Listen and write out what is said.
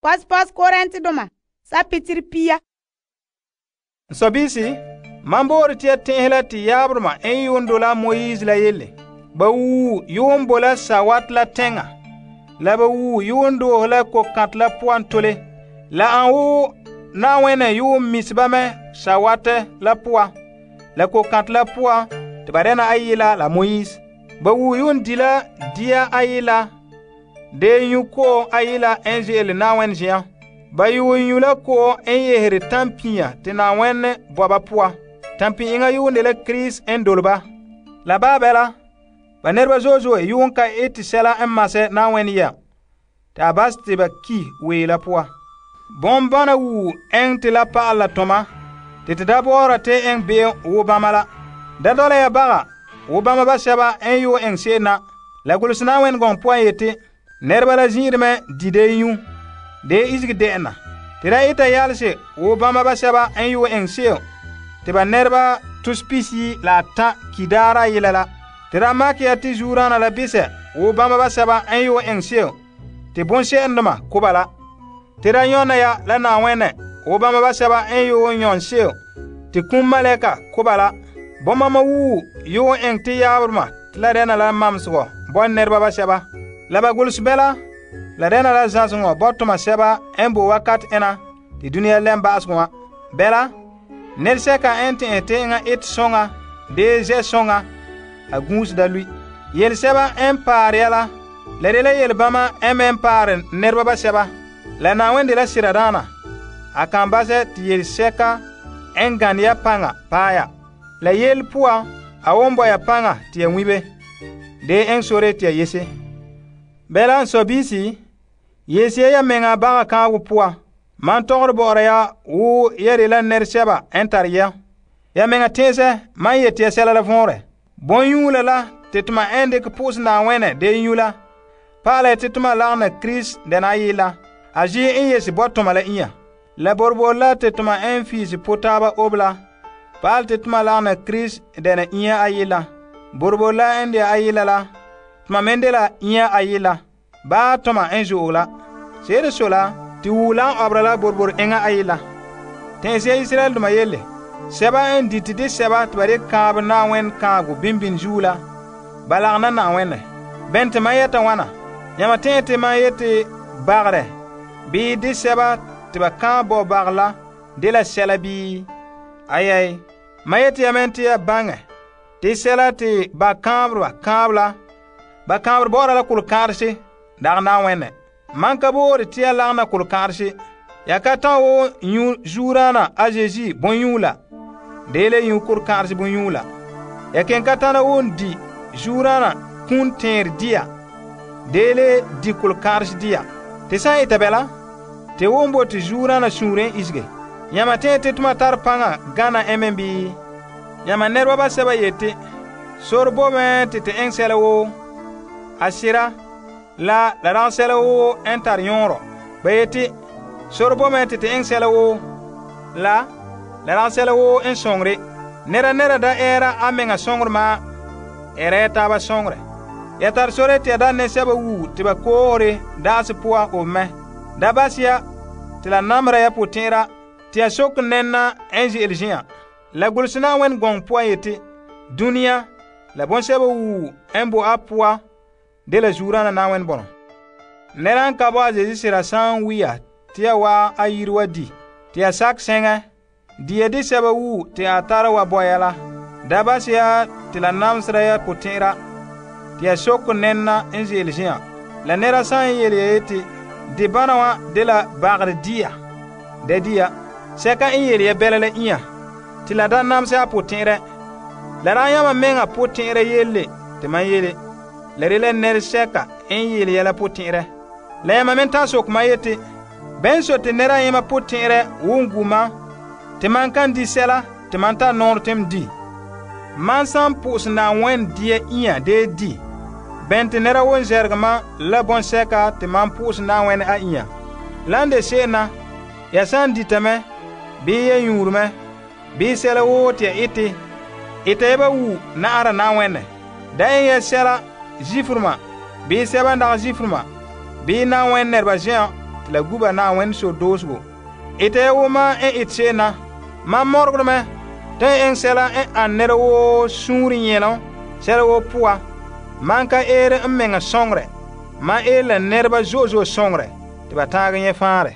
Pos Korintedoma sapitiri pia. Sobisi, man boore te ya tɛn'ɛhe la te yaabdoma n yuun dole Moise la yelle. Ba wuu yuun bo la sawat la teŋa. La ba wuu yuun doohe la kokãtɛ la poan tole. La an wo Na'ayenɛ yuun misi ba mɛ sawate la poan. La kokãtɛ la poan te ba dɛna ayila la Moise. Ba wuu yuun di la dia ayila. De nyu ko ayila en ze'ele Na'ayenɛ zen'an. Ba yuun nyu la ko en yehere tampia te Na'ayenɛ bo ba poan. Tampi'inga yuun de la Krista en dole ba. La ba bela, ba nɛreba zo'e yuun ka ete sɛla n masɛ Na'ayenɛ ya. Ta bas te ba ki wee la poan. Bombana wuu en te la pa'al la toma. Te da bɔɔra te en be'em wo bama la. Da dɔla ya baga wo bama ba sɛba en yuun en se'em na. La guluse Na'ayenɛ gɔŋ poan yete, nɛreba la zin'ireme di de nyu. De izigi de'ena. Te da ita yalse wo bama ba sɛba en yuun en se'em. Te ba nɛreba tuspisi la ta kidaara yela la. Te da makɛ ya te zuurana la bisɛ wo bama ba sɛba en yuun en se'em. Te bonsɛ'ɛndoma koba la. Te da yɔna ya la Na'ayenɛ wo bama ba sɛba en yuun yɔn se'em. Te kum malɛka koba la. Bomama wuu yuun en te yaabdoma te la dɛna la mamsegɔ bɔn nɛreba ba sɛba. La ba gulse bɛla la dɛna la zãseŋɔ bɔtoma sɛba en bo wakat ena te dunia lɛm ba'asegɔ wã. Bɛla, nɛresɛka en tɛ'ɛhe te eŋa ete sõŋa dee zɛ sõŋa a gũuse da lui. Yelesɛba en paare ya la de la yelebãma en me paare nɛreba ba sɛba. La Na'ayenɛ de la siradaana. A kan basɛ te yelesɛka en gane ya paŋa paɛ ya. La yele poan a won bo ya paŋa te ya ŋmibe. De en sore te ya yese. Bɛla n sobisi, yese ya meŋa baga kãago poan. Man tɔgɔre bɔ'ɔra ya wo ya de la nɛresɛba en tare ya. Ya meŋa tẽesɛ man yete ya sɛla la vɔnrɛ. Bõn-yũula la te toma en dikɛ po'ose Na'ayenɛ de nyu la. Pa'ala te toma lagena Krista dɛna ayila. A zi en yese bɔtoma la inya. La borbor la te toma en fiisi potaaba obla. Pa'al te toma lagena Krista dɛna inya ayila. Borbor la en de ayila la. Toma men de la inya ayila. Ba toma en zo'o la. Seere so la te wula en obra la borbor enga ayila. Tẽese Israel duma yelle. Sɛba en dite de sɛba te ba de kãab Na'ayenɛ kãago bimbin zuo la. Ba lagena Na'ayenɛ. Bɛn te man yɛta wãna. Yãma tẽ te man yete bagre. Bii de sɛba te ba kãab bo bag la de la sɛla bii. Ayai. Man yete ya men te ya baŋɛ. Te sɛla te ba kãabreba kãab la. Ba kãabr bɔ'ɔra la kol-kãadse dag Na'ayenɛ. Man ka boore te ya lagena kol-kãadse. Ya ka tãn wo nyu zuurana a Zeezi bõn-yũula. Deele nyu kol-kãadse bõn-yũula. Ya ken ka tãna won di zuurana kũun tẽer dia. Deele di kol-kãadse dia. Te sã n eta bɛla, te won bo te zuurana sũurẽ isege. Yãma tẽ te toma tar paŋa gana en men bii? Yãma nɛreba ba sɛba yete, sor bo me te eng sɛla woo. A sira la rag sɛla woo en tar yõorɔ. Ba yete, sor bo me te eng sɛla woo. La rag sɛla woo en sõngre. Nera da ɛɛra a meŋa sõngre maa. Ɛra ya taaba sõngre. Ya tar sore te ya da ne sɛba wuu te ba koore daase poa o mɛ. Da basia te la namra ya potẽera te ya sok nɛnna en ze'ele zĩ'ã. La gulse Na'ayenɛ gɔŋ poan yete, dunia la bõn-sɛba wuu en bo a poa de la zuurana Na'ayenɛ bɔnɔ. Nɛra n ka bo a Zeezi sira sã n wi ya te ya wa a yiri wa di, te ya sak sẽŋɛ, di ya de sɛba wuu te a tara wa bɔ ya la. Da basia te la namsera ya potẽera te ya sok nɛnna en ze'ele zĩ'ã. La nɛra sã n yele ya yete, de bãna wã de la bagre dia. Da dia, sɛka n yele ya bɛla la inya, te la da namsɛ a potẽerɛ. La ran yãmba meŋa potẽerɛ yelle te man yele. La de la nɛresɛka n yele ya la potẽerɛ. La yãmba men tã sok man yete, bɛn so te nɛra yẽma potẽerɛ wun gu man, te man kan di sɛla te man tar noor tem di. Man san po'ose Na'ayenɛ dia inya dee di. Bɛn te nɛra won zɛrege man la bõn-sɛka te man po'ose Na'ayenɛ a inya. La n de se'em na, ya san ditame, bii ya yũurme, bii sɛla woo te ya ete ya ba wuu na'ara Na'ayenɛ. Da en ya sɛla zifrema, bii sɛba n dag zifrema, bii Na'ayenɛ nɛreba zen'an te la guba Na'ayenɛ sore doosego. Ite ya wo mam n ete se'em na. Mam mɔregere mɛ te n eŋɛ sɛla n ane nɛra woo suunre nyɛlom sɛla woo poan. Man ka eere n mɛŋa soŋorɛ. Man eere la nɛreba zo'e zo'e soŋorɛ te ba taagɛ nyɛ faanrɛ.